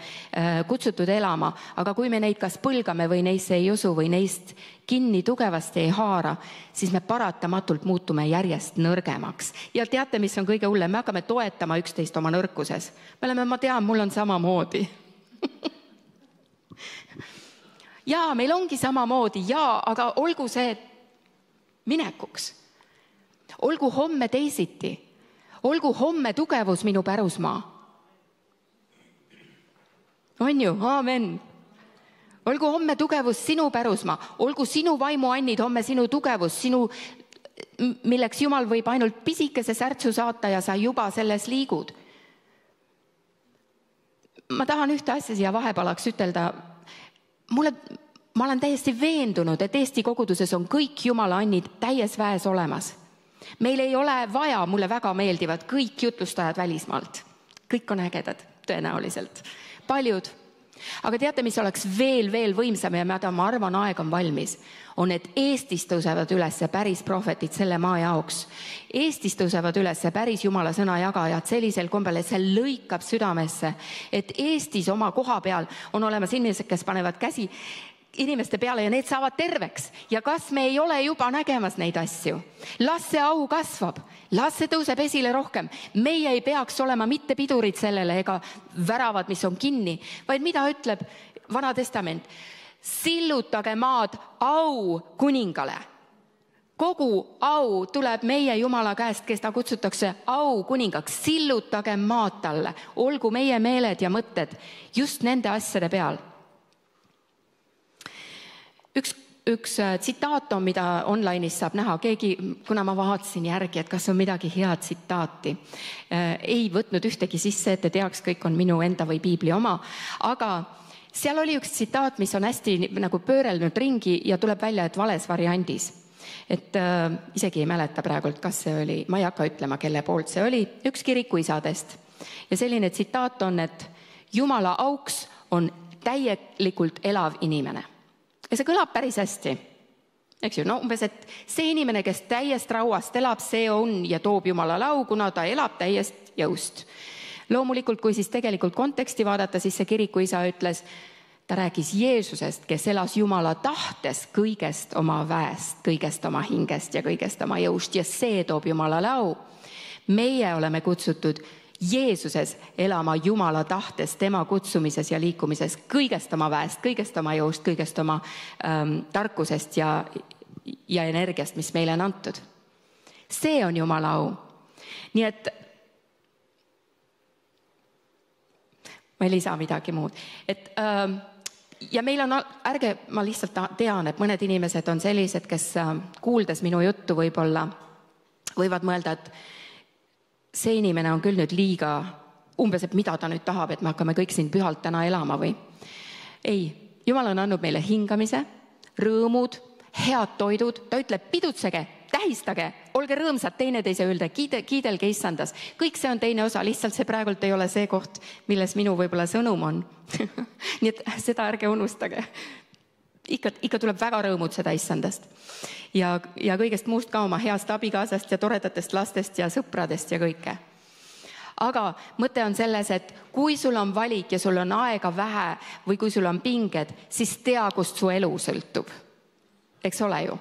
[SPEAKER 1] kutsutud elama, aga kui me neid kas põlgame või neisse ei usu või neist kinni tugevasti ei haara, siis me paratamatult muutume järjest nõrgemaks. Ja teate, mis on kõige hullem? Me hakkame toetama üksteist oma nõrkuses. Me oleme, ma tean, mul on samamoodi. Jaa, meil ongi samamoodi, jaa, aga olgu see minekuks. Olgu homme teisiti. Olgu homme tugevus minu pärusmaa. On ju? Aamen. Olgu homme tugevus sinu pärusmaa. Olgu sinu vaimuannid homme sinu tugevus, sinu, milleks Jumal võib ainult pisikese särtsu saata ja sa juba selles liigud. Ma tahan ühte asja siia vahepalaks ütelda. Mulle, ma olen täiesti veendunud, et Eesti koguduses on kõik Jumala annid täies väes olemas. Meil ei ole vaja, mulle väga meeldivad kõik jutlustajad välismaalt. Kõik on ägedad, tõenäoliselt. Paljud. Aga teate, mis oleks veel, veel võimsam ja mida ma arvan, aeg on valmis, on, et Eestis tõusevad üles päris prohvetid selle maa jaoks. Eestis tõusevad üles päris Jumala sõna jagajad sellisel kombel, et see lõikab südamesse, et Eestis oma koha peal on olemas inimesed, kes panevad käsi inimeste peale ja need saavad terveks. Ja kas me ei ole juba nägemas neid asju? Las see au kasvab, las see tõuseb esile rohkem. Meie ei peaks olema mitte pidurid sellele ega väravad, mis on kinni, vaid mida ütleb Vana Testament? Sillutage maad au kuningale. Kogu au tuleb meie Jumala käest, kes ta kutsutakse au kuningaks. Sillutage maad talle. Olgu meie meeled ja mõtted just nende asjade peal. Üks, üks tsitaat on, mida online'is saab näha. Keegi, kuna ma vaatasin järgi, et kas on midagi head tsitaati, ei võtnud ühtegi sisse, et te teaks, kõik on minu enda või piibli oma, aga seal oli üks tsitaat, mis on hästi nagu pöörelnud ringi ja tuleb välja, et vales variandis. Et äh, isegi ei mäleta praegult, kas see oli, ma ei hakka ütlema, kelle poolt see oli, üks kirikuisadest. Ja selline tsitaat on, et Jumala auks on täielikult elav inimene. Ja see kõlab päris hästi. Eks ju, no umbes, et see inimene, kes täiest rauast elab, see on ja toob Jumala lau, kuna ta elab täiest jõust. Loomulikult, kui siis tegelikult konteksti vaadata, siis see kirikuisa ütles, ta rääkis Jeesusest, kes elas Jumala tahtes kõigest oma väest, kõigest oma hingest ja kõigest oma jõust ja see toob Jumala lau. Meie oleme kutsutud Jeesuses elama Jumala tahtes, tema kutsumises ja liikumises, kõigest oma väest, kõigest oma jõust, kõigest oma ähm, tarkusest ja, ja energiast, mis meile on antud. See on Jumala au. Nii et ma ei lisa midagi muud. Et, ähm, ja meil on, ärge, ma lihtsalt tean, et mõned inimesed on sellised, kes äh, kuuldes minu juttu võib-olla võivad mõelda, et see inimene on küll nüüd liiga umbes, et mida ta nüüd tahab, et me hakkame kõik siin pühalt täna elama või. Ei, Jumal on andnud meile hingamise, rõõmud, head toidud, ta ütleb pidutsege, tähistage, olge rõõmsad teineteise üle, kiide, kiidelge issandas. Kõik see on teine osa, lihtsalt see praegult ei ole see koht, milles minu võib-olla sõnum on. Nii et seda ärge unustage. Ikka, ikka tuleb väga rõõmud seda issandast. Ja, ja kõigest muust ka oma heast abikaasast ja toredatest lastest ja sõpradest ja kõike. Aga mõte on selles, et kui sul on valik ja sul on aega vähe või kui sul on pinged, siis tea, kust su elu sõltub. Eks ole ju?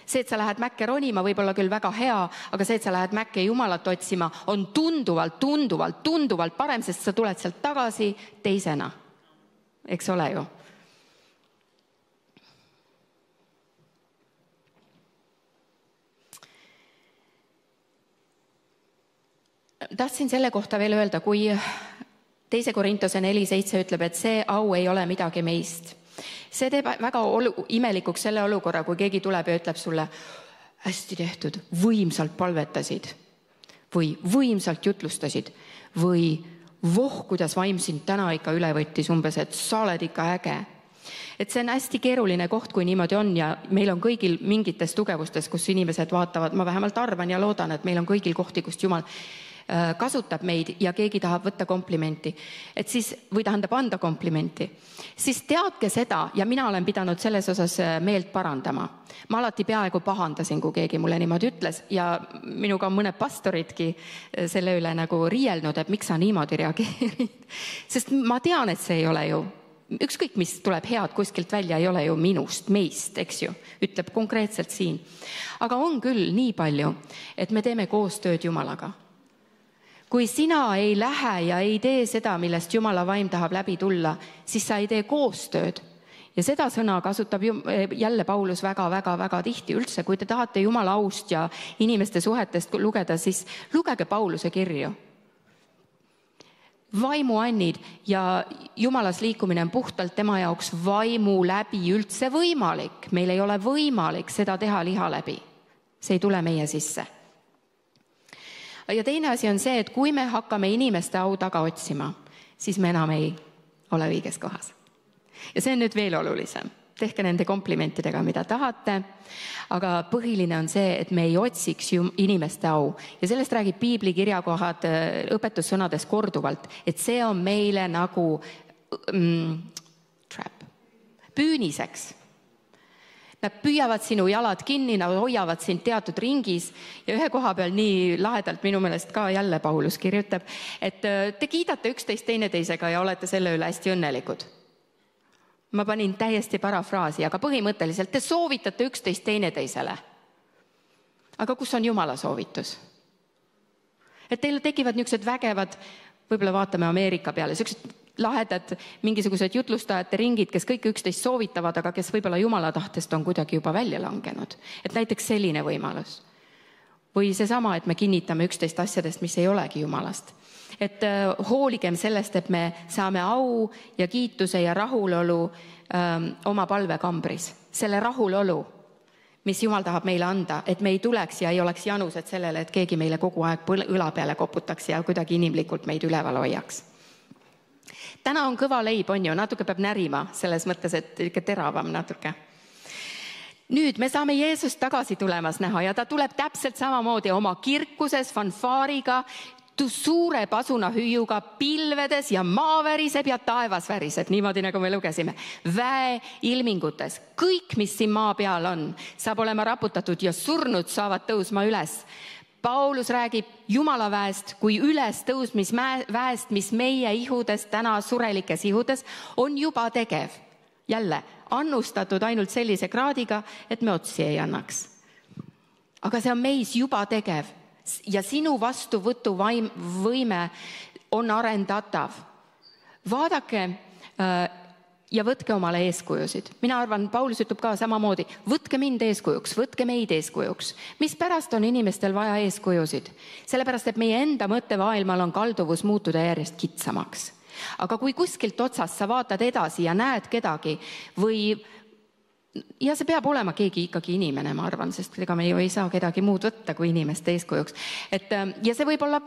[SPEAKER 1] See, et sa lähed mäkke ronima, võib olla küll väga hea, aga see, et sa lähed mäkke Jumalat otsima, on tunduvalt, tunduvalt, tunduvalt parem, sest sa tuled sealt tagasi teisena. Eks ole ju? Tahtsin selle kohta veel öelda, kui teise Korintuse neli seitse ütleb, et see au ei ole midagi meist. See teeb väga olu- imelikuks selle olukorra, kui keegi tuleb ja ütleb sulle, hästi tehtud, võimsalt palvetasid või võimsalt jutlustasid või voh, kuidas vaim sind täna ikka üle võttis umbes, et sa oled ikka äge. Et see on hästi keeruline koht, kui niimoodi on ja meil on kõigil mingites tugevustes, kus inimesed vaatavad, ma vähemalt arvan ja loodan, et meil on kõigil kohti, kust Jumal kasutab meid ja keegi tahab võtta komplimenti, et siis, või tähendab anda komplimenti, siis teadke seda ja mina olen pidanud selles osas meelt parandama. Ma alati peaaegu pahandasin, kui keegi mulle niimoodi ütles ja minuga on mõned pastoridki selle üle nagu riielnud, et miks sa niimoodi reageerid. Sest ma tean, et see ei ole ju, ükskõik mis tuleb head kuskilt välja, ei ole ju minust, meist, eks ju, ütleb konkreetselt siin. Aga on küll nii palju, et me teeme koostööd Jumalaga. Kui sina ei lähe ja ei tee seda, millest Jumala vaim tahab läbi tulla, siis sa ei tee koostööd. Ja seda sõna kasutab jälle Paulus väga, väga, väga tihti üldse. Kui te tahate Jumala aust ja inimeste suhetest lugeda, siis lugege Pauluse kirju. Vaimuannid ja Jumalas liikumine on puhtalt tema jaoks vaimu läbi üldse võimalik. Meil ei ole võimalik seda teha liha läbi. See ei tule meie sisse. Ja teine asi on see, et kui me hakkame inimeste au taga otsima, siis me enam ei ole õiges kohas. Ja see on nüüd veel olulisem. Tehke nende komplimentidega, mida tahate, aga põhiline on see, et me ei otsiks inimeste au. Ja sellest räägib piibli kirjakohad õpetussõnades korduvalt, et see on meile nagu mm, trap, püüniseks. Nad püüavad sinu jalad kinni, nad hoiavad sind teatud ringis ja ühe koha peal nii lahedalt minu meelest ka jälle Paulus kirjutab, et te kiidate üksteist teineteisega ja olete selle üle hästi õnnelikud. Ma panin täiesti parafraasi, aga põhimõtteliselt te soovitate üksteist teineteisele. Aga kus on Jumala soovitus? Et teil tekivad niisugused vägevad, võib-olla vaatame Ameerika peale, niisugused lahedad mingisugused jutlustajate ringid, kes kõik üksteist soovitavad, aga kes võib-olla Jumala tahtest on kuidagi juba välja langenud. Et näiteks selline võimalus. Või seesama, et me kinnitame üksteist asjadest, mis ei olegi Jumalast. Et äh, hooligem sellest, et me saame au ja kiituse ja rahulolu ähm, oma palvekambris. Selle rahulolu, mis Jumal tahab meile anda, et me ei tuleks ja ei oleks janused sellele, et keegi meile kogu aeg õla peale koputaks ja kuidagi inimlikult meid üleval hoiaks. Täna on kõva leib, on ju, natuke peab närima selles mõttes, et ikka teravam natuke. Nüüd me saame Jeesust tagasi tulemas näha ja ta tuleb täpselt samamoodi oma kirkuses, fanfaariga, suure pasuna hüüuga, pilvedes ja maa väriseb ja taevas väriseb, niimoodi nagu me lugesime. Väe ilmingutes, kõik, mis siin maa peal on, saab olema raputatud ja surnud saavad tõusma üles. Paulus räägib Jumala väest kui üles tõusmis väest, mis meie ihudes, täna surelikes ihudes, on juba tegev. Jälle, annustatud ainult sellise kraadiga, et me otsi ei annaks. Aga see on meis juba tegev. ja sinu vastuvõtu vaim, võime on arendatav. Vaadake äh, ja võtke omale eeskujusid. Mina arvan, Paulus ütleb ka samamoodi, võtke mind eeskujuks, võtke meid eeskujuks. Mis pärast on inimestel vaja eeskujusid? Sellepärast, et meie enda mõttevaailmal on kalduvus muutuda järjest kitsamaks. Aga kui kuskilt otsast sa vaatad edasi ja näed kedagi või ja see peab olema keegi ikkagi inimene, ma arvan, sest ega me ju ei saa kedagi muud võtta kui inimeste eeskujuks. Et, ja see võib olla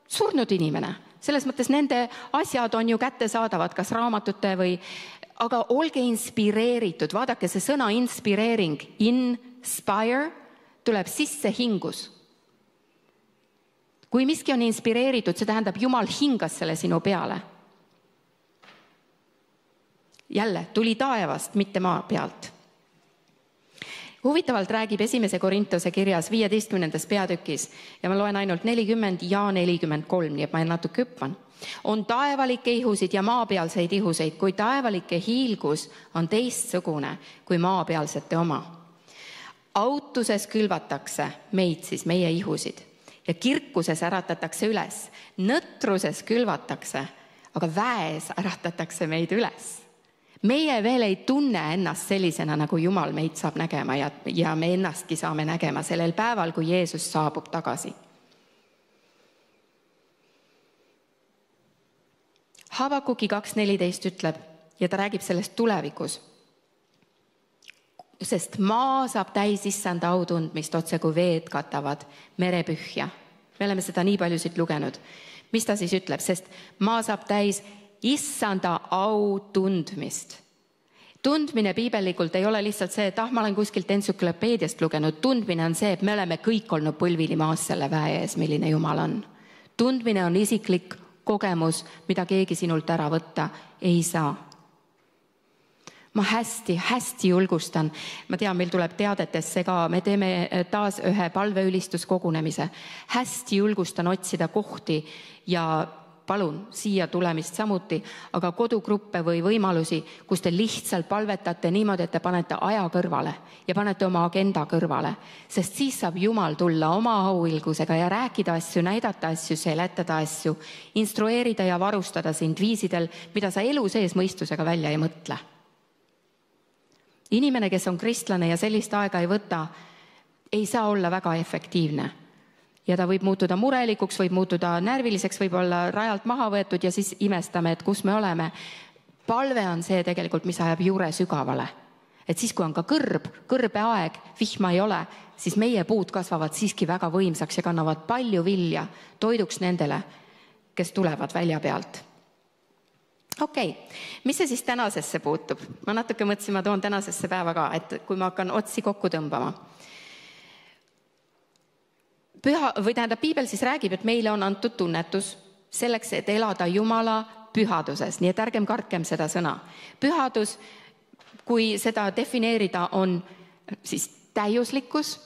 [SPEAKER 1] surnud inimene. Selles mõttes nende asjad on ju kättesaadavad, kas raamatute või, aga olge inspireeritud. Vaadake, see sõna inspireering, inspire, tuleb sisse hingus. Kui miski on inspireeritud, see tähendab, Jumal hingas selle sinu peale. Jälle, tuli taevast, mitte maa pealt. Huvitavalt räägib esimese Korintuse kirjas viieteistkümnendas peatükis ja ma loen ainult nelikümmend ja nelikümmend kolm, nii et ma natuke hüppan. On taevalikke ihusid ja maapealseid ihuseid, kui taevalike hiilgus on teistsugune kui maapealsete oma. Autuses külvatakse meid siis meie ihusid ja kirkuses äratatakse üles. Nõtruses külvatakse, aga väes äratatakse meid üles. Meie veel ei tunne ennast sellisena, nagu Jumal meid saab nägema ja, ja me ennastki saame nägema sellel päeval, kui Jeesus saabub tagasi. Havakuki kaks neliteist ütleb ja ta räägib sellest tulevikus. Sest maa saab täis issanda autundmist otse kui veed katavad merepühja. Me oleme seda nii palju siit lugenud. Mis ta siis ütleb? Sest maa saab täis issanda au tundmist. Tundmine piibellikult ei ole lihtsalt see, et ah, ma olen kuskilt entsüklopeediast lugenud. Tundmine on see, et me oleme kõik olnud põlvili maas selle väe ees, milline Jumal on. Tundmine on isiklik kogemus, mida keegi sinult ära võtta ei saa. Ma hästi, hästi julgustan. Ma tean, meil tuleb teadetesse ka, me teeme taas ühe palveülistuskogunemise. Hästi julgustan otsida kohti ja palun siia tulemist samuti, aga kodugruppe või võimalusi, kus te lihtsalt palvetate niimoodi, et te panete aja kõrvale ja panete oma agenda kõrvale, sest siis saab Jumal tulla oma auilgusega ja rääkida asju, näidata asju, seletada asju, instrueerida ja varustada sind viisidel, mida sa elu sees mõistusega välja ei mõtle. Inimene, kes on kristlane ja sellist aega ei võta, ei saa olla väga efektiivne. Ja ta võib muutuda murelikuks, võib muutuda närviliseks, võib olla rajalt maha võetud ja siis imestame, et kus me oleme. Palve on see tegelikult, mis ajab juure sügavale. Et siis, kui on ka kõrb, kõrbe aeg, vihma ei ole, siis meie puud kasvavad siiski väga võimsaks ja kannavad palju vilja toiduks nendele, kes tulevad välja pealt. Okei, okay. Mis see siis tänasesse puutub? Ma natuke mõtlesin, ma toon tänasesse päeva ka, et kui ma hakkan otsi kokku tõmbama. Püha, või tähendab, Piibel siis räägib, et meile on antud tunnetus selleks, et elada Jumala pühaduses, nii et ärgem kartkem seda sõna. Pühadus, kui seda defineerida, on siis täiuslikkus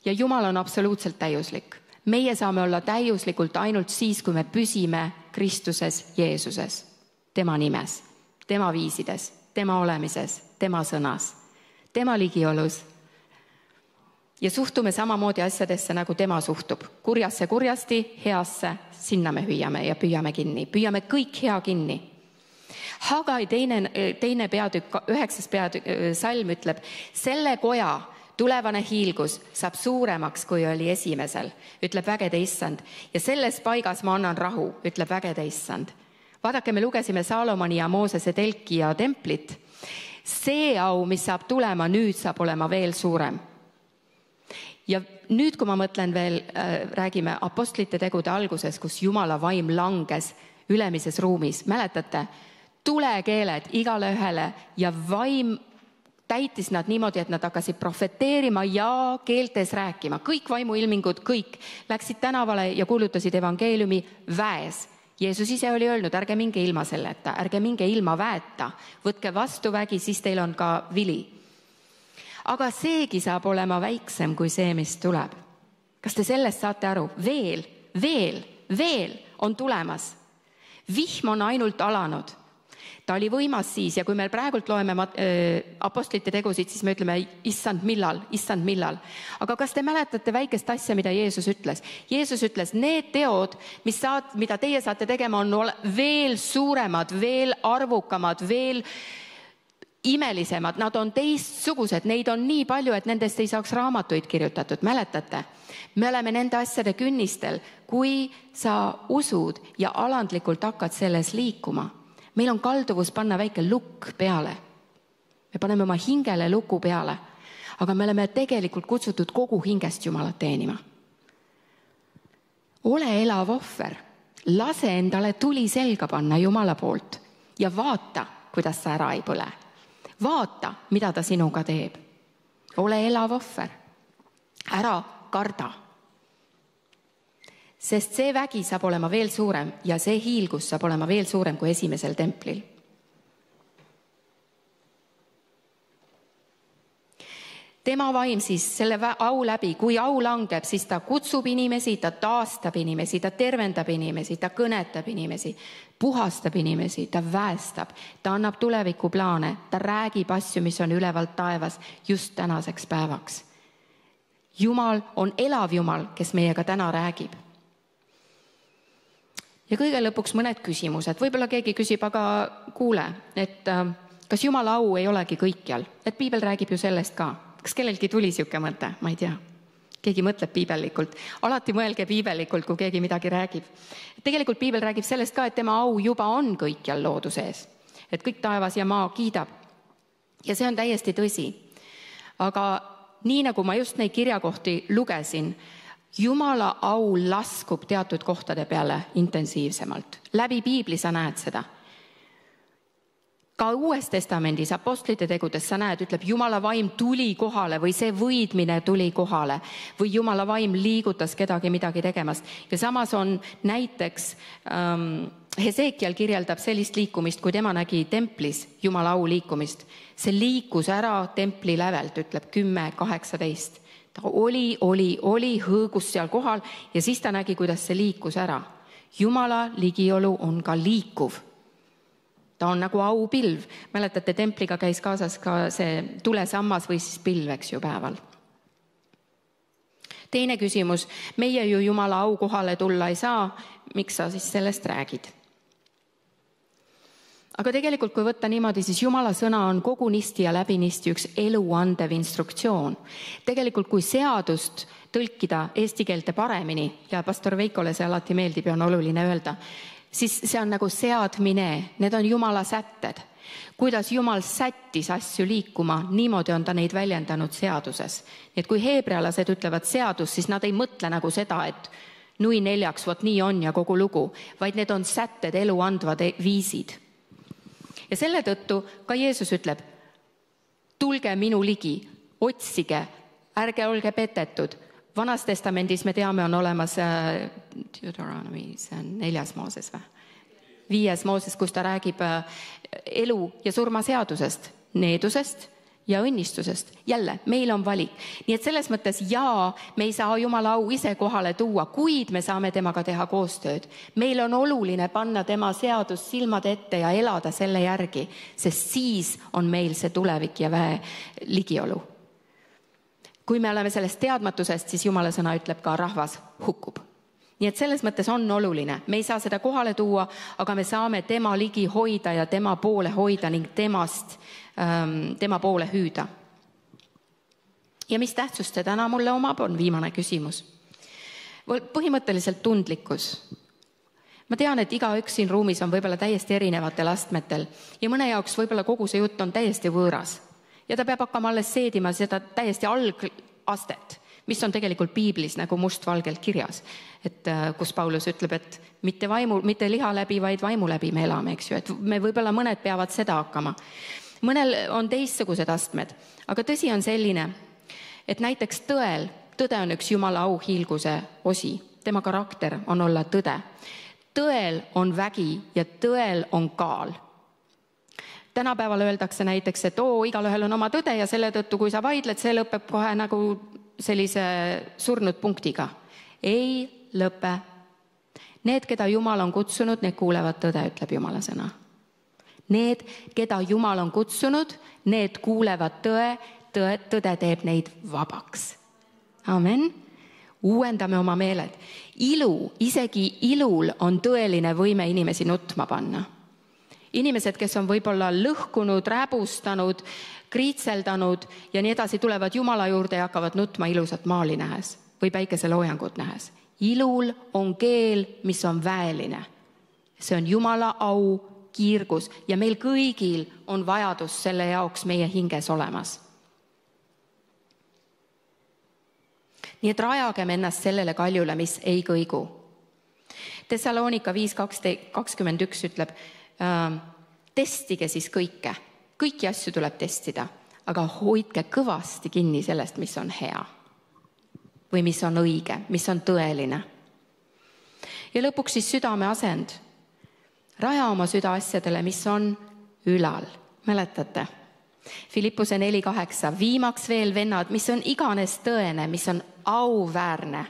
[SPEAKER 1] ja Jumal on absoluutselt täiuslik. Meie saame olla täiuslikult ainult siis, kui me püsime Kristuses Jeesuses, tema nimes, tema viisides, tema olemises, tema sõnas, tema ligiolus. Ja suhtume samamoodi asjadesse, nagu tema suhtub. Kurjasse kurjasti, heasse, sinna me hüüame ja püüame kinni. Püüame kõik hea kinni. Hagai teine, teine peatükk, üheksas peatükk, salm ütleb, selle koja tulevane hiilgus saab suuremaks, kui oli esimesel, ütleb vägede issand. Ja selles paigas ma annan rahu, ütleb vägede issand. Vaadake, me lugesime Saalomoni ja Moosese telki ja templit. See au, mis saab tulema, nüüd saab olema veel suurem. Ja nüüd, kui ma mõtlen veel, äh, räägime apostlite tegude alguses, kus Jumala vaim langes ülemises ruumis. Mäletate, tulekeeled igale ühele ja vaim täitis nad niimoodi, et nad hakkasid profeteerima ja keeltes rääkima. Kõik vaimuilmingud, kõik läksid tänavale ja kuulutasid evangeeliumi väes. Jeesus ise oli öelnud, ärge minge ilma selleta, ärge minge ilma väeta, võtke vastu vägi, siis teil on ka vili. Aga seegi saab olema väiksem kui see, mis tuleb. Kas te sellest saate aru? Veel, veel, veel on tulemas. Vihm on ainult alanud. ta oli võimas siis ja kui me praegult loeme apostlite tegusid, siis me ütleme, issand millal, issand millal. Aga kas te mäletate väikest asja, mida Jeesus ütles? Jeesus ütles, need teod, mis saad, mida teie saate tegema, on veel suuremad, veel arvukamad, veel imelisemad, nad on teistsugused, neid on nii palju, et nendest ei saaks raamatuid kirjutatud, mäletate? Me oleme nende asjade künnistel, kui sa usud ja alandlikult hakkad selles liikuma. Meil on kalduvus panna väike lukk peale. Me paneme oma hingele luku peale, aga me oleme tegelikult kutsutud kogu hingest Jumalat teenima. Ole elav ohver, lase endale tuli selga panna Jumala poolt ja vaata, kuidas sa ära ei põle. Vaata, mida ta sinuga teeb. Ole elav ohver. Ära karda. Sest see vägi saab olema veel suurem ja see hiilgus saab olema veel suurem kui esimesel templil. Tema vaim siis selle au läbi, kui au langeb, siis ta kutsub inimesi, ta taastab inimesi, ta tervendab inimesi, ta kõnetab inimesi, puhastab inimesi, ta väestab, ta annab tulevikuplaane, ta räägib asju, mis on ülevalt taevas just tänaseks päevaks. Jumal on elav Jumal, kes meiega täna räägib. Ja kõige lõpuks mõned küsimused. Võib-olla keegi küsib, aga kuule, et kas Jumala au ei olegi kõikjal? Et piibel räägib ju sellest ka. Kas kellelgi tuli siuke mõte? Ma ei tea. Keegi mõtleb piibellikult. Alati mõelge piibellikult, kui keegi midagi räägib. Tegelikult piibel räägib sellest ka, et tema au juba on kõikjal looduses. Et kõik taevas ja maa kiidab. Ja see on täiesti tõsi. Aga nii nagu ma just neid kirjakohti lugesin, Jumala au laskub teatud kohtade peale intensiivsemalt. Läbi piibli sa näed seda. Ka Uues testamendis, apostlite tegudes sa näed, ütleb, Jumala vaim tuli kohale või see võidmine tuli kohale või Jumala vaim liigutas kedagi midagi tegemast. Ja samas on näiteks ähm, Hesekiel kirjeldab sellist liikumist, kui tema nägi templis Jumala au liikumist. See liikus ära templi lävelt, ütleb kümme kaheksateist. Ta oli, oli, oli, hõõgus seal kohal ja siis ta nägi, kuidas see liikus ära. Jumala ligiolu on ka liikuv. Ta on nagu aupilv. Mäletate, templiga käis kaasas ka see tulesammas või siis pilv, eks ju, päeval. Teine küsimus. Meie ju Jumala au kohale tulla ei saa. Miks sa siis sellest räägid? Aga tegelikult, kui võtta niimoodi, siis Jumala sõna on kogunisti ja läbinisti üks elu andev instruktsioon. Tegelikult, kui seadust tõlkida eesti keelte paremini, ja pastor Veikole see alati meeldib ja on oluline öelda, siis see on nagu seadmine, need on Jumala sätted. Kuidas Jumal sättis asju liikuma, niimoodi on ta neid väljendanud seaduses. Nii et kui heebrealased ütlevad seadus, siis nad ei mõtle nagu seda, et nui neljaks, vot nii on ja kogu lugu, vaid need on sätted, elu andvad viisid. Ja selle tõttu ka Jeesus ütleb, tulge minu ligi, otsige, ärge olge petetud. Vanas testamendis me teame, on olemas äh, Deuteronomy, see on neljas Mooses või? Viies Mooses, kus ta räägib äh, elu ja surma seadusest, needusest ja õnnistusest. Jälle, meil on valik. Nii et selles mõttes jaa, me ei saa Jumala au ise kohale tuua, kuid me saame temaga teha koostööd. Meil on oluline panna tema seadus silmade ette ja elada selle järgi, sest siis on meil see tulevik ja väe ligiolu. Kui me oleme sellest teadmatusest, siis Jumala sõna ütleb ka rahvas hukkub. Nii et selles mõttes on oluline. Me ei saa seda kohale tuua, aga me saame tema ligi hoida ja tema poole hoida ning temast, ähm, tema poole hüüda. Ja mis tähtsust see täna mulle omab, on viimane küsimus. Põhimõtteliselt tundlikkus. Ma tean, et igaüks siin ruumis on võib-olla täiesti erinevatel astmetel ja mõne jaoks võib-olla kogu see jutt on täiesti võõras. Ja ta peab hakkama alles seedima seda täiesti algastet, mis on tegelikult piiblis nagu mustvalgelt kirjas, et kus Paulus ütleb, et mitte, vaimu, mitte liha läbi, vaid vaimu läbi me elame, eks ju, et me võib-olla mõned peavad seda hakkama. Mõnel on teistsugused astmed, aga tõsi on selline, et näiteks tõel, tõde on üks Jumala auhiilguse osi, tema karakter on olla tõde. Tõel on vägi ja tõel on kaal. Tänapäeval öeldakse näiteks, et oo, igalühel on oma tõde ja selle tõttu, kui sa vaidled, see lõpeb kohe nagu sellise surnud punktiga. Ei lõpe. Need, keda Jumal on kutsunud, need kuulevad tõde, ütleb Jumala sõna. Need, keda Jumal on kutsunud, need kuulevad tõe, tõe, tõde teeb neid vabaks. Amen. Uuendame oma meeled. Ilu, isegi ilul on tõeline võime inimesi nutma panna. Inimesed, kes on võib-olla lõhkunud, räbustanud, kriitseldanud ja nii edasi, tulevad Jumala juurde ja hakkavad nutma ilusat maali nähes või päikeseloojangut nähes. Ilul on keel, mis on väeline. See on Jumala au, kiirgus ja meil kõigil on vajadus selle jaoks meie hinges olemas. Nii et rajagem ennast sellele kaljule, mis ei kõigu. Thessalonika viis kakskümmend üks ütleb, äh, testige siis kõike. Kõiki asju tuleb testida, aga hoidke kõvasti kinni sellest, mis on hea või mis on õige, mis on tõeline. Ja lõpuks siis südame asend. Raja oma süda asjadele, mis on ülal. Mäletate? Filippuse neli kaheksa. Viimaks veel, vennad, mis on iganes tõene, mis on auväärne,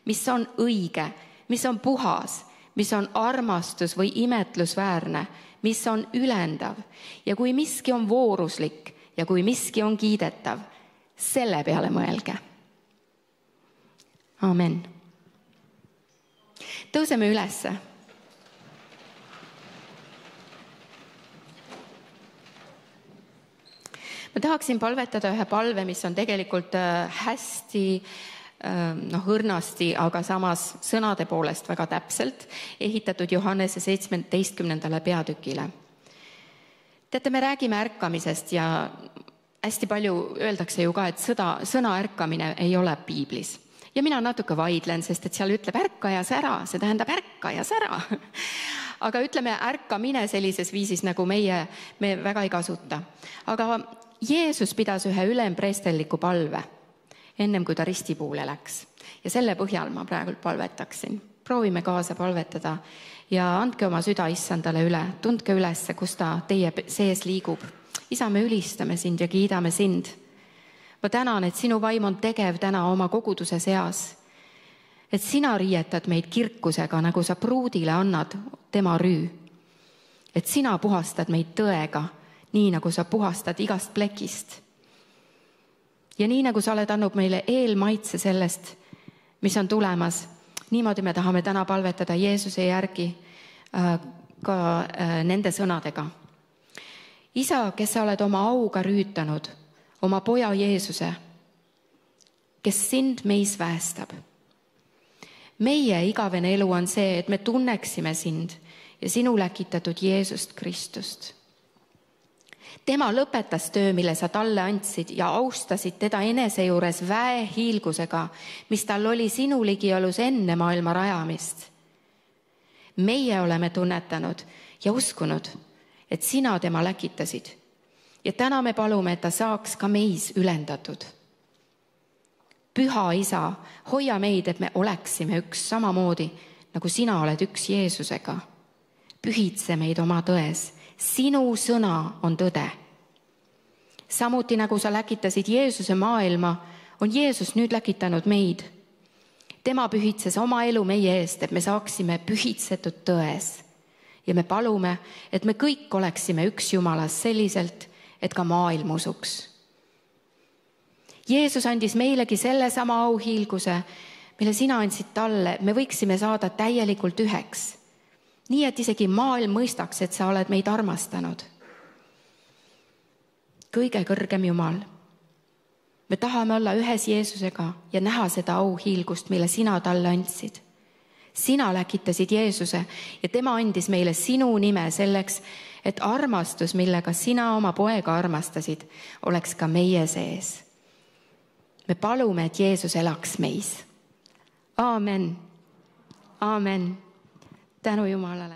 [SPEAKER 1] mis on õige, mis on puhas, mis on armastus või imetlusväärne, mis on ülendav ja kui miski on vooruslik ja kui miski on kiidetav, selle peale mõelge. Amen. Tõuseme ülesse. Ma tahaksin palvetada ühe palve, mis on tegelikult hästi noh, õrnasti, aga samas sõnade poolest väga täpselt ehitatud Johannese seitsmeteistkümnendale peatükile. Teate, me räägime ärkamisest ja hästi palju öeldakse ju ka, et sõda, sõna ärkamine ei ole piiblis. Ja mina natuke vaidlen, sest et seal ütleb ärka ja sära, see tähendab ärka ja sära. Aga ütleme ärkamine sellises viisis, nagu meie, me väga ei kasuta. Aga Jeesus pidas ühe ülempreestelliku palve, ennem kui ta ristipuule läks. Ja selle põhjal ma praegu palvetaksin. Proovime kaasa palvetada ja andke oma süda issandale üle. Tundke ülesse, kus ta teie sees liigub. Isa, me ülistame sind ja kiidame sind. Ma tänan, et sinu vaim on tegev täna oma koguduse seas. Et sina riietad meid kirkusega, nagu sa pruudile annad tema rüü. Et sina puhastad meid tõega, nii nagu sa puhastad igast plekist. Ja nii nagu sa oled andnud meile eelmaitse sellest, mis on tulemas, niimoodi me tahame täna palvetada Jeesuse järgi äh, ka äh, nende sõnadega. Isa, kes sa oled oma auga rüütanud, oma poja Jeesuse, kes sind meis väestab. Meie igavene elu on see, et me tunneksime sind ja sinu läkitatud Jeesust Kristust. Tema lõpetas töö, mille sa talle andsid ja austasid teda enese juures väehiilgusega, mis tal oli sinu ligiolus enne maailma rajamist. Meie oleme tunnetanud ja uskunud, et sina tema läkitasid. Ja täna me palume, et ta saaks ka meis ülendatud. Püha Isa, hoia meid, et me oleksime üks samamoodi, nagu sina oled üks Jeesusega. Pühitse meid oma tões. Sinu sõna on tõde. Samuti nagu sa läkitasid Jeesuse maailma, on Jeesus nüüd läkitanud meid. Tema pühitses oma elu meie eest, et me saaksime pühitsetud tões. Ja me palume, et me kõik oleksime üks Jumalas selliselt, et ka maailm usuks. Jeesus andis meilegi selle sama auhiilguse, mille sina andsid talle, me võiksime saada täielikult üheks. Nii, et isegi maailm mõistaks, et sa oled meid armastanud. Kõige kõrgem Jumal. Me tahame olla ühes Jeesusega ja näha seda auhiilgust, mille sina talle andsid. Sina läkitasid Jeesuse ja tema andis meile sinu nime selleks, et armastus, millega sina oma poega armastasid, oleks ka meie sees. Me palume, et Jeesus elaks meis. Aamen. Aamen. Tänu Jumalale.